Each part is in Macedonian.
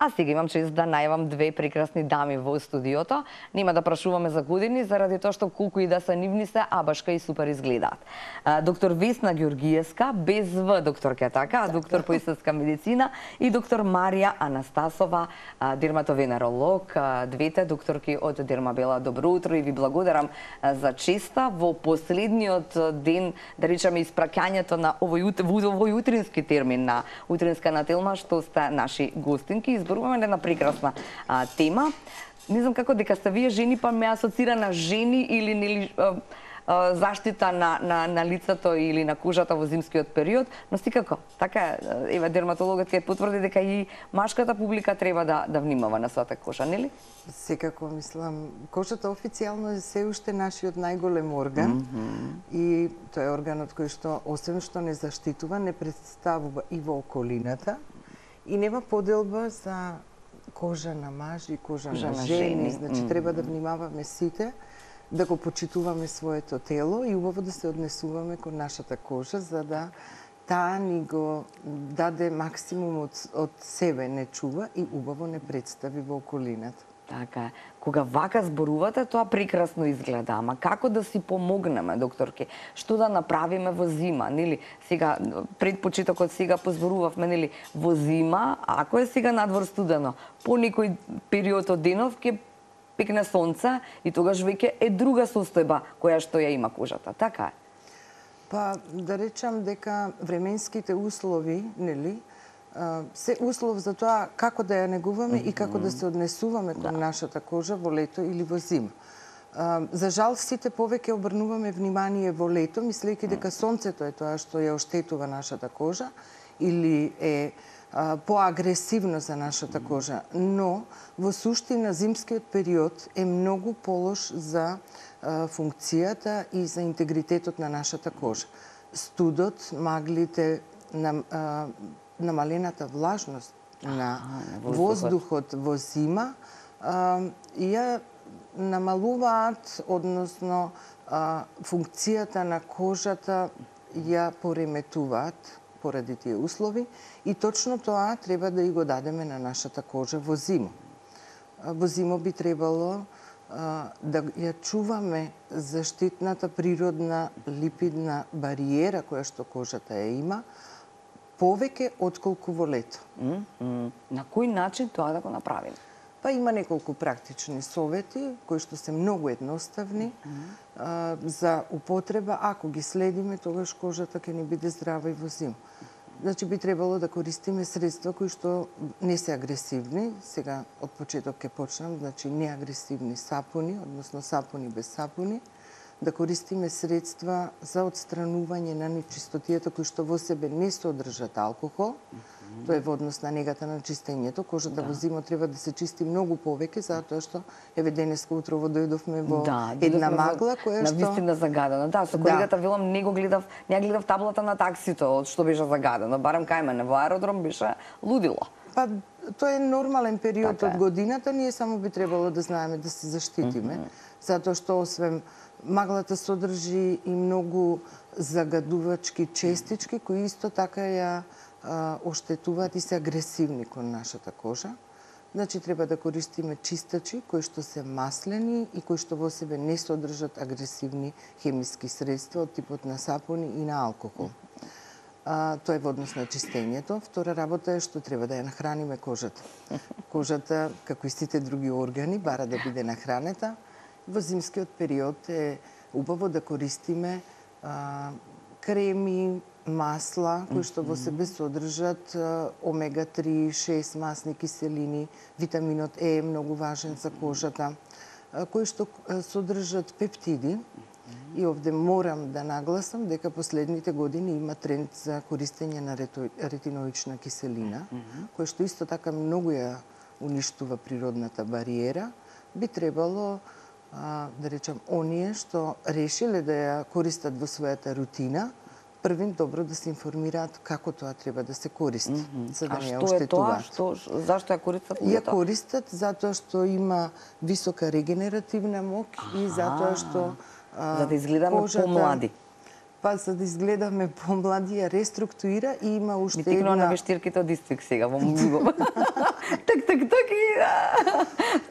А сега имам чест да најавам две прекрасни дами во студиото. Нема да прашуваме за години, заради тоа што колку и да се нивни се, а башка и супер изгледаат. Доктор Весна Ѓоргиевска, без В докторка, така, доктор по естетска медицина, и доктор Марија Анастасова, дерматовенеролог, двете докторки од Дермабела. Добро утро и ви благодарам за честа во последниот ден, да речеме, испраќањето на овој утрински термин, на утринска нателма, што сте наши гостинки. Изборуваме една прекрасна тема. Не знам како дека сте вие жени, па ме асоцира на жени или нели заштита на лицето или на кожата во зимскиот период, но секако, така еве дерматологот ќе потврди дека и машката публика треба да внимава на својата кожа, нели? Секако, мислам, кожата официјално е се уште нашиот најголем орган и тоа е органот кој што, освен што не заштитува, не представува и во околината и нема поделба за кожа на мажи, кожа на жени, значи треба да внимаваме сите, да го почитуваме своето тело и убаво да се однесуваме кон нашата кожа, за да таа ни го даде максимум од себе, не чува и убаво не представи во околината. Така е. Кога вака зборувате, тоа прекрасно изгледа, ама како да си помогнеме, докторке? Што да направиме во зима, нели? Сега пред почетокот сега позборувавме, нели, во зима, ако е сега надвор студено, по некој период од денов ќе пекне сонце и тогаш веќе е друга состојба која што ја има кожата, така е? Па, да речам дека временските услови, нели, се услов за тоа како да ја негуваме и како да се однесуваме кон нашата кожа во лето или во зима. За жал, сите повеќе обрнуваме внимание во лето, мислејќи дека сонцето е тоа што ја оштетува нашата кожа или е поагресивно за нашата кожа, но во суштина зимскиот период е многу полош за функцијата и за интегритетот на нашата кожа. Студот, маглите, намалената влажност на воздухот во зима ја намалуваат, односно функцијата на кожата ја пореметуваат поради тие услови и точно тоа треба да и го дадеме на нашата кожа во зима. Во зима би требало да ја чуваме заштитната природна липидна бариера која што кожата ја има, повеќе отколку во лето. На кој начин тоа да го направиме? Па има неколку практични совети кои што се многу едноставни за употреба. Ако ги следиме, тогаш кожата ќе ни биде здрава и во зима. Значи би требало да користиме средства кои што не се агресивни. Сега од почеток ќе почнам, значи неагресивни сапуни, односно сапуни без сапуни. Да користиме средства за отстранување на нечистотијата кои што во себе не содржат алкохол. Тоа е во однос на негата на чистењето. Кожата во зима треба да се чисти многу повеќе, затоа што еве денеска утрово дојдовме во една магла која што навистина загадена. Да, со колегата Вилам не гледав таблата на таксито од што беше загадено. Барем кај мене во аеродром беше лудило. Па тоа е нормален период од годината, ние само би требало да знаеме да се заштитиме, затоа што освен маглата содржи и многу загадувачки честички кои исто така ја оштетуваат и се агресивни кон нашата кожа. Значи треба да користиме чистачи кои што се маслени и кои што во себе не содржат агресивни хемиски средства од типот на сапуни и на алкохол. Тоа е во однос на чистењето. Втора работа е што треба да ја нахраниме кожата. Кожата, како и сите други органи, бара да биде нахранета. Во зимскиот период е убаво да користиме креми, масла, кои што во себе содржат омега-3, 6 масни киселини, витаминот Е е многу важен за кожата, кои што содржат пептиди. И овде морам да нагласам дека последните години има тренд за користење на ретиноична киселина, која што исто така многу ја уништува природната бариера. Би требало да речам, оние што решиле да ја користат во својата рутина, првин добро да се информираат како тоа треба да се користи, за да не ја оштетуваат. Зашто ја користат? Ја користат затоа што има висока регенеративна мок и затоа што за да изгледаме помлади. Па за да изгледаме помлади, ја реструктуира и има уште Ми тикнува на вештирките од Дистрикт сега во мозгов. Так и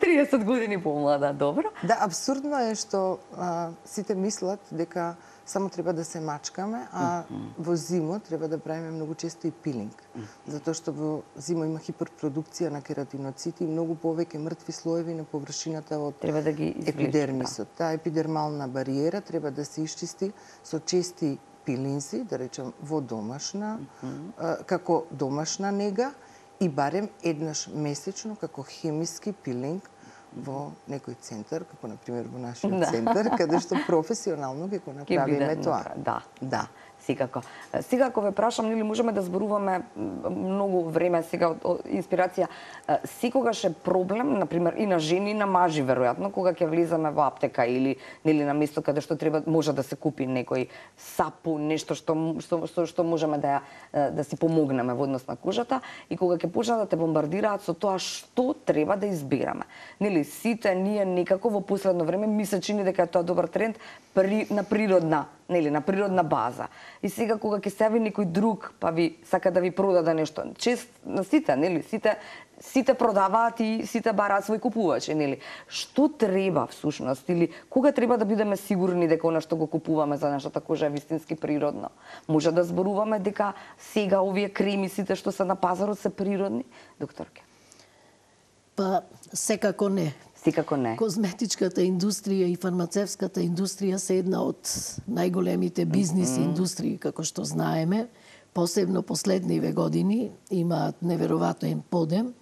30 години помлада, добро. Да, абсурдно е што сите мислат дека само треба да се мачкаме, а во зимо треба да правиме многу често и пилинг. Затоа што во зимо има хиперпродукција на кератиноцити и многу повеќе мртви слоеви на површината од Треба да ги епидермисот. Таа епидермална бариера треба да се исчисти со чести пилинзи, да речем во домашна, како домашна нега и барем еднаш месечно како хемиски пилинг во некој центар, како на пример во нашиот центар, каде што професионално ќе го направиме тоа. Да. Секако. Сега, ако ве прашам, нели можеме да зборуваме многу време сега од инспирација, секогаш е проблем, например, и на жени, и на мажи, веројатно, кога ќе влизаме во аптека или нели на место каде што треба може да се купи некој сапун, нешто што можеме да си помогнеме во однос на кожата, и кога ќе почнат да те бомбардираат со тоа што треба да избираме. Нели сите ние некако во последно време ми се чини дека е тоа добар тренд на природна база. И сега кога ќе се јави некој друг, па ви сака да ви продаде нешто, чест на сите, нели, сите продаваат и сите бараат свој купувачи, нели? Што треба всушност или кога треба да бидеме сигурни дека она што го купуваме за нашата кожа е вистински природно? Може да зборуваме дека сега овие креми сите што се на пазарот се природни, докторке? Па секако не. Секако не. Козметичката индустрија и фармацевската индустрија се една од најголемите бизнис индустрии, како што знаеме. Посебно последниве години имаат неверојатен подем.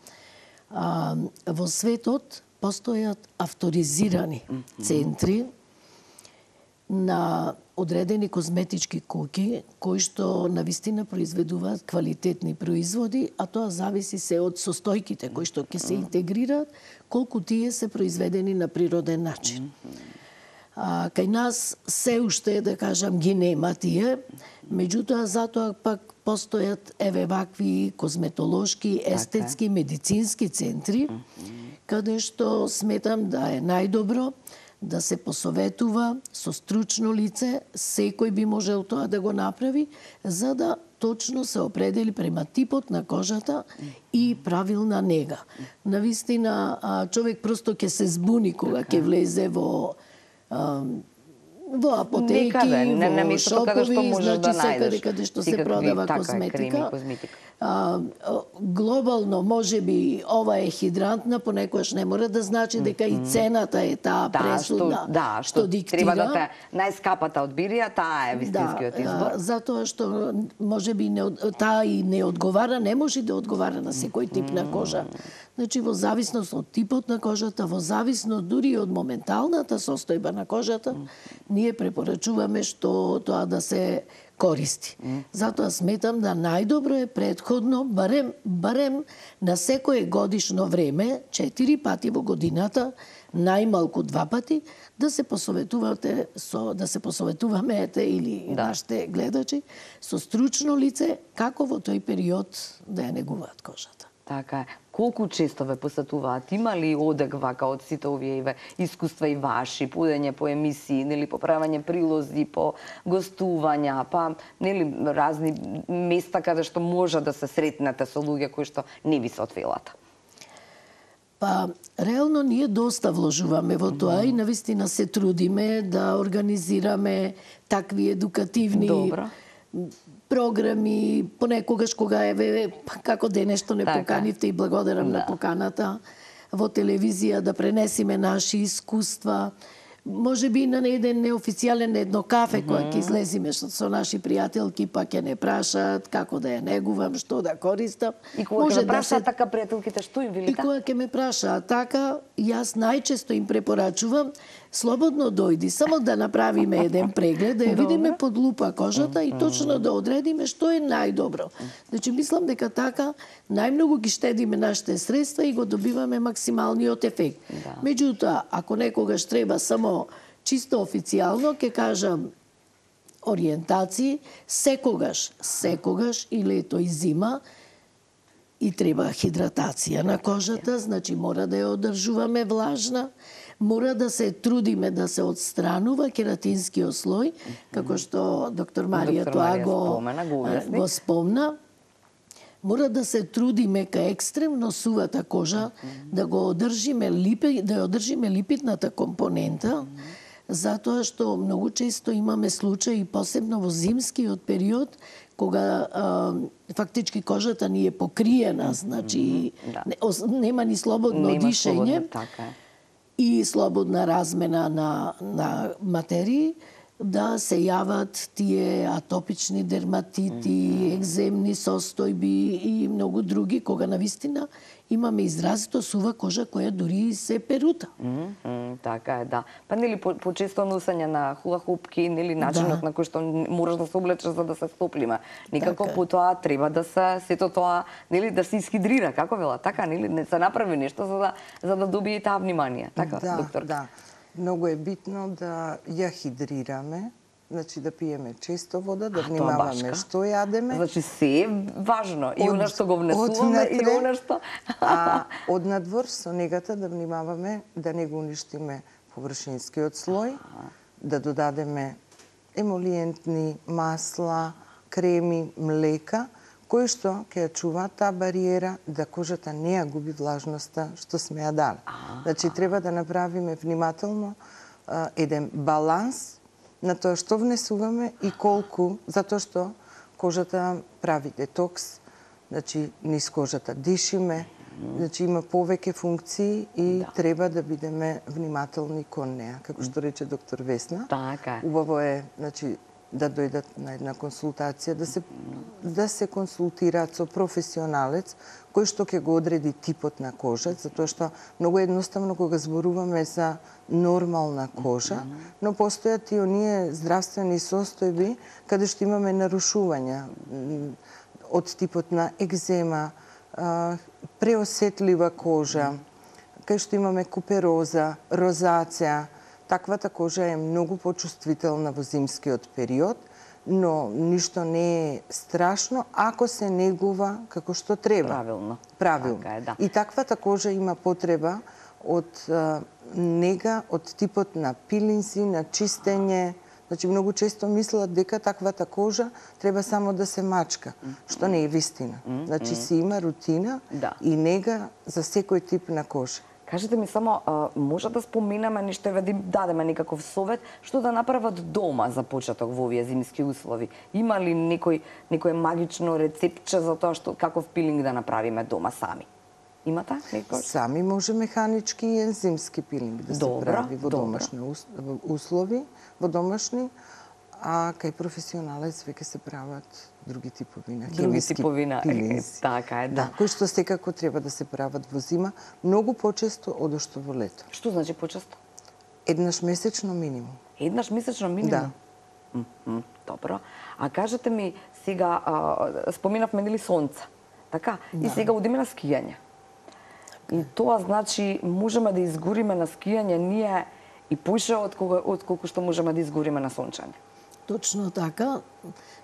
Во светот постојат авторизирани центри на одредени козметички куќи кои што навистина произведуваат квалитетни производи, а тоа зависи се од состојките кои што ќе се интегрираат, колку тие се произведени на природен начин. Кај нас се уште, да кажам, ги нема тие, меѓутоа затоа пак постојат вакви козметолошки, естетски, медицински центри, каде што сметам да е најдобро да се посоветува со стручно лице, секој би можел тоа да го направи, за да точно се определи према типот на кожата и правилна нега. Навистина, човек просто ќе се збуни кога ќе влезе во апотеки, во шопови, значи секаде каде што се продава козметика. Глобално, може би, ова е хидрантна, понекогаш не мора да значи дека и цената е таа пресудна, што диктира. Треба да те најскапата одбирија, таа е вистинскиот избор. Затоа што може би таа и не одговара, не може да одговара на секој тип на кожа. Значи, во зависност од типот на кожата, во зависност дури од моменталната состојба на кожата, ние препорачуваме што тоа да се користи. Затоа сметам да најдобро е претходно, барем на секое годишно време, 4 пати во годината, најмалку 2 пати, да се посоветуваме или нашите гледачи со стручно лице како во тој период да ја негуваат кожата. Така е. Колку често ве посетуваат? Има ли одек вака од сите овие искуства и ваши, подење по емисии, нели по правење прилози, по гостувања, па нели разни места каде што може да се сретнете со луѓе кои што не ви се од фелата? Па, реално ние доста вложуваме во тоа и навистина се трудиме да организираме такви едукативни програми, понекогаш кога како денешто не поканивте и благодарам на поканата во телевизија да пренесиме наши искуства. Може би на еден неофицијален едно кафе кога ќе излезиме со наши пријателки, па ќе не прашаат како да ја негувам, што да користам. И кога ќе ме прашаат така пријателките, што им велите? И кога ќе ме прашаат така, јас најчесто им препорачувам слободно дојди, само да направиме еден преглед, да ја видиме под лупа кожата и точно да одредиме што е најдобро. Значи, мислам дека така најмногу ги штедиме нашите средства и го добиваме максималниот ефект. Меѓутоа, ако некогаш треба само чисто официјално, ќе кажам ориентации, секогаш и лето и зима и треба хидратација на кожата, значи мора да ја одржуваме влажна, Мора да се трудиме да се отстранува кератинскиот слој, како што доктор Марија тоа го спомна. Мора да се трудиме кај екстремно сувата кожа да го одржиме липидната компонента, затоа што многу често имаме случаи, посебно во зимскиот период, кога фактички кожата ни е покриена, значи нема ни слободно дишење и слободна размена на материи, да се јават тие атопични дерматити, екземни состојби и многу други, кога навистина имаме изразито сува кожа која дури се перута. Така е, да. Па нели почесто носење на хула-хупки, нели начинот на кој што мораш да се облечеш за да се стоплиме. Никако потоа треба да се сето тоа, нели да се исхидрира, како вела, така нели не се направи нешто за да добие таа внимание, така доктор? Да. Многу е битно да ја хидрираме, значи да пиеме често вода, да внимаваме што јадеме. Значи се е важно, и она што го внесуваме, и она што... А од надвор со негата да внимаваме да не го уништиме површинскиот слој, да додадеме емолиентни масла, креми, млека, кои што ќе ја чуваат таа бариера да кожата не ја губи влажноста што сме ја дали. Значи, треба да направиме внимателно еден баланс на тоа што внесуваме и колку, затоа што кожата прави детокс, значи низ кожата дишиме, значи има повеќе функции и треба да бидеме внимателни кон неа, како што рече доктор Весна. Така. Убаво е, значи, да дојдат на една консултација, да се консултираат со професионалец кој што ќе го одреди типот на кожа, затоа што многу едноставно кога зборуваме за нормална кожа, но постојат и оние здравствени состојби каде што имаме нарушувања од типот на екзема, преосетлива кожа, кај што имаме купероза, розација. Таквата кожа е многу почувствителна во зимскиот период, но ништо не е страшно ако се негува како што треба. Правилно. Така е, да. И таквата кожа има потреба од нега, од типот на пилинзи, на чистење. Значи, многу често мислат дека таквата кожа треба само да се мачка, што не е вистина. Значи, си има рутина и нега за секој тип на кожа. Кажете ми само, може да споменаме нешто, да им дадеме некаков совет, што да направат дома за почеток во овие зимски услови? Има ли некој магично рецептче за тоа што каков пилинг да направиме дома сами? Имате некој? Сами може механички и ензимски пилинг да се прави во домашни услови, а кај професионалец веќе се прават други типови на хемиски пилинзи. Така е, да. Кои што секако треба да се прават во зима, многу почесто одошто во лето. Што значи почесто? Еднаш месечно минимум. Еднаш месечно минимум? Да. Добро. А кажете ми, сега споменавме нели сонце, така? И сега одиме на скијање. И тоа значи можеме да изгориме на скијање ние и поише од колку што можеме да изгориме на сончање. Точно така,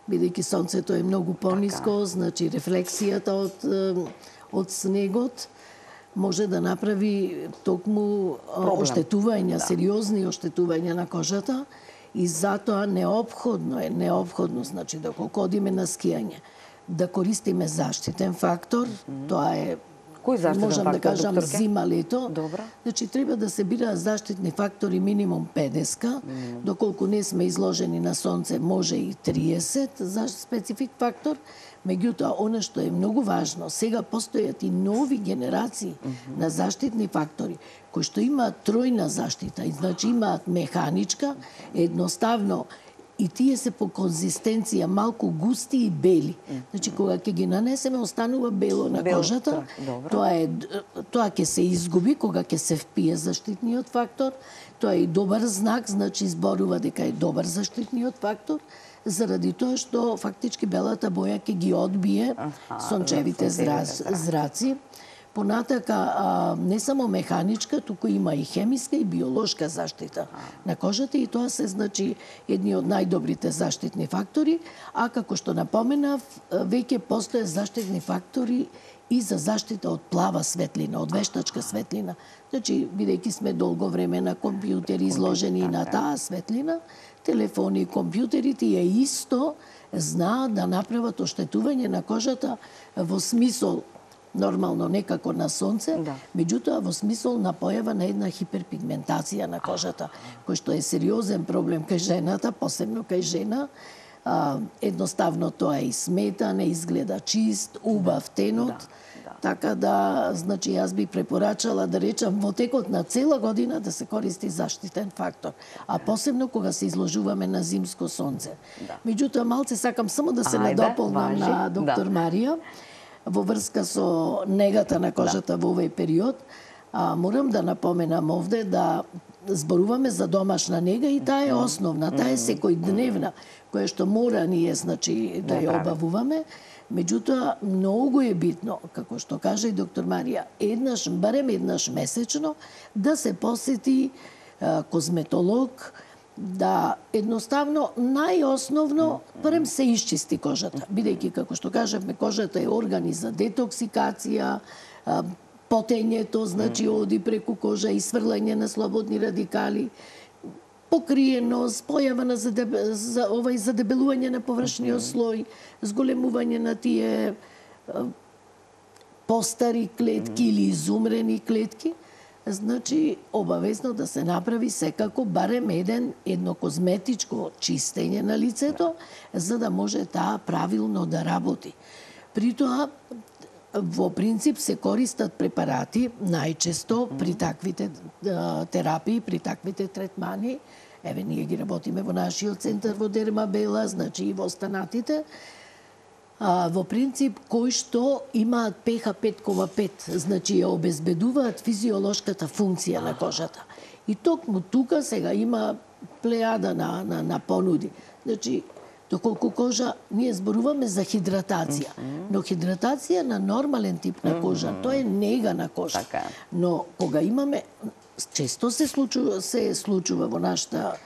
бидејќи сонцето е многу пониско, значи рефлексијата од снегот може да направи токму оштетувања, сериозни оштетувања на кожата и затоа неопходно, значи доколку одиме на скијање, да користиме заштитен фактор, тоа е Кој заштитен можам фактор, да кажам докторке? зима-лето. Добро. Значи треба да се бираат заштитни фактори минимум 50, доколку не сме изложени на сонце може и 30 за специфик фактор. Меѓутоа, она што е многу важно, сега постојат и нови генерации на заштитни фактори, кои што имаат тројна заштита, и значи имаат механичка, едноставно, и тие се по конзистенција малку густи и бели. Значи, кога ќе ги нанесеме, останува бело на кожата. Тоа ќе се изгуби кога ќе се впие заштитниот фактор. Тоа е и добар знак, значи изборува дека е добар заштитниот фактор, заради тоа што фактички белата боја ќе ги одбие сончевите зраци. Понатака, не само механичка, туку има и хемиска и биолошка заштита на кожата и тоа се значи едни од најдобрите заштитни фактори, а како што напоменав, веќе постоje заштитни фактори и за заштита од плава светлина, од вештачка светлина. Значи, бидејќи сме долго време на компјутери изложени на таа светлина, телефони и компјутерите е исто знаат да направат оштетување на кожата во смисол нормално некако на сонце, меѓутоа во смисол на појава на една хиперпигментација на кожата, кој што е сериозен проблем кај жената, посебно кај жена. Едноставно тоа и смета, не изгледа чист, убав тенот. Така да, значи, јас би препорачала да речам во текот на цела година да се користи заштитен фактор, а посебно кога се изложуваме на зимско сонце. Меѓутоа, малце сакам само да се надополнам на доктор Марија во врска со негата на кожата во овој период. Морам да напоменам овде да зборуваме за домашна нега и таа е основна, таа е секојдневна, која што мора ние, значи, да ја обавуваме. Меѓутоа, многу е битно, како што кажа и доктор Марија, барем еднаш месечно, да се посети козметолог, да едноставно, најосновно, барем се исчисти кожата. Бидејќи, како што кажавме, кожата е орган за детоксикација, потењето, значи, оди преку кожа и сврлање на слободни радикали, покриеност, појава на задебелување на површниот слој, зголемување на тие постари клетки или изумрени клетки, значи обавезно да се направи секако барем едно козметичко чистење на лицето, за да може таа правилно да работи. При тоа, во принцип се користат препарати најчесто при таквите терапии, при таквите третмани. Еве, ние ги работиме во нашиот центар во Дермабела, значи и во останатите. Во принцип, кои што имаат pH 5,5, значи ја обезбедуваат физиолошката функција на кожата. И токму тука сега има плејада на понуди. Значи, доколку кожа, ние зборуваме за хидратација, но хидратација на нормален тип на кожа, тоа е нега на кожа. Но кога имаме, често се случува во нашата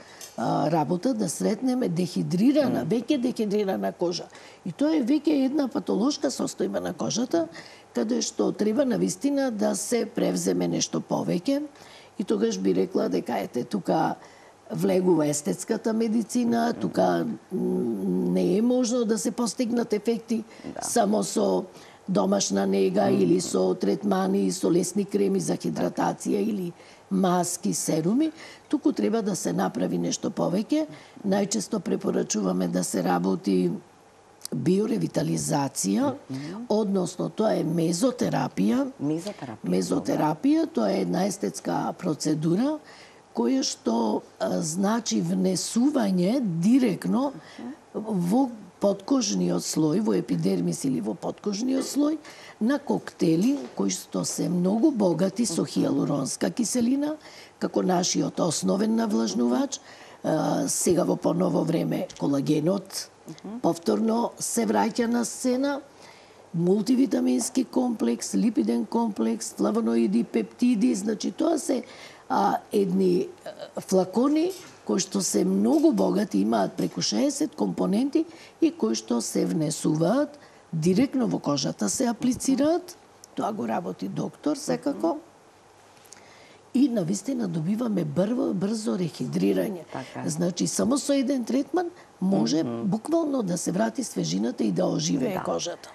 работа да сретнеме дехидрирана, веќе дехидрирана кожа. И тоа е веќе една патолошка состојба на кожата, каде што треба навистина да се превземе нешто повеќе. И тогаш би рекла дека ете тука влегува естетската медицина, тука не е можно да се постигнат ефекти само со домашна нега или со третмани, со лесни креми за хидратација или маски, серуми, туку треба да се направи нешто повеќе. Најчесто препорачуваме да се работи биоревитализација, односно тоа е мезотерапија. Мезотерапија, тоа е една естетска процедура која што значи внесување директно во подкожниот слој, во епидермис или во подкожниот слој, на коктели кои што се многу богати со хијалуронска киселина, како нашиот основен навлажнувач. Сега во поново време колагенот повторно се враќа на сцена, мултивитамински комплекс, липиден комплекс, флавоноиди, пептиди, значи тоа се едни флакони кои што се многу богати, имаат преку 60 компоненти и кои што се внесуваат директно во кожата, се аплицираат, тоа го работи доктор секако, и навистина добиваме брзо рехидрирање. Значи, само со еден третман може буквално да се врати свежината и да оживее кожата.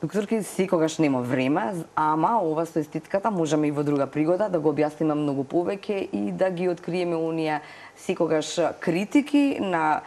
Докторки, секогаш нема време, ама ова со естетката можеме и во друга пригода да го објасниме многу повеќе и да ги откриеме оние секогаш критики на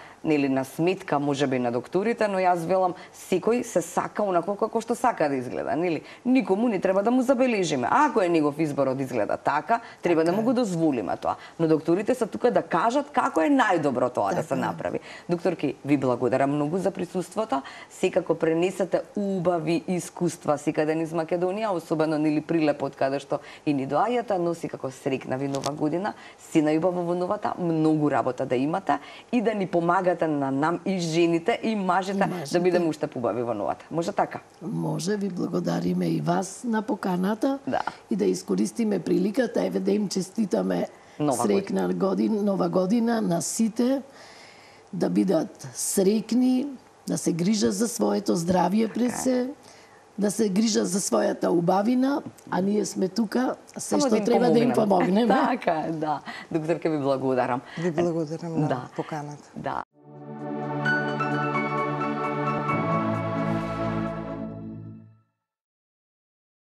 сметка можеби на докторите, но јас велам секој се сака онако како што сака да изгледа, нели? Никому не треба да му забележиме. Ако е негов изборот изгледа така, треба да му го дозволиме тоа. Но докторите се тука да кажат како е најдобро тоа да се направи. Докторки, ви благодарам многу за присуството. Секако пренесете убави искуства секаде низ Македонија, особено нели Прилеп од каде што и ни доаѓате, но секако срекна ви нова година. Сина љубаво во новата. многу работа да имате и да ни помагате на нам и жените и мажите да бидеме уште побави во новата. Може така? Може, ви благодариме и вас на поканата и да искористиме приликата, еве да им честитаме среќна нова година на сите, да бидат среќни, да се грижат за своето здравје пред се, да се грижат за својата убавина, а ние сме тука, се што треба да им помогнеме. Така е, да. Докторка, ви благодарам. Ви благодарам на поканата. Да.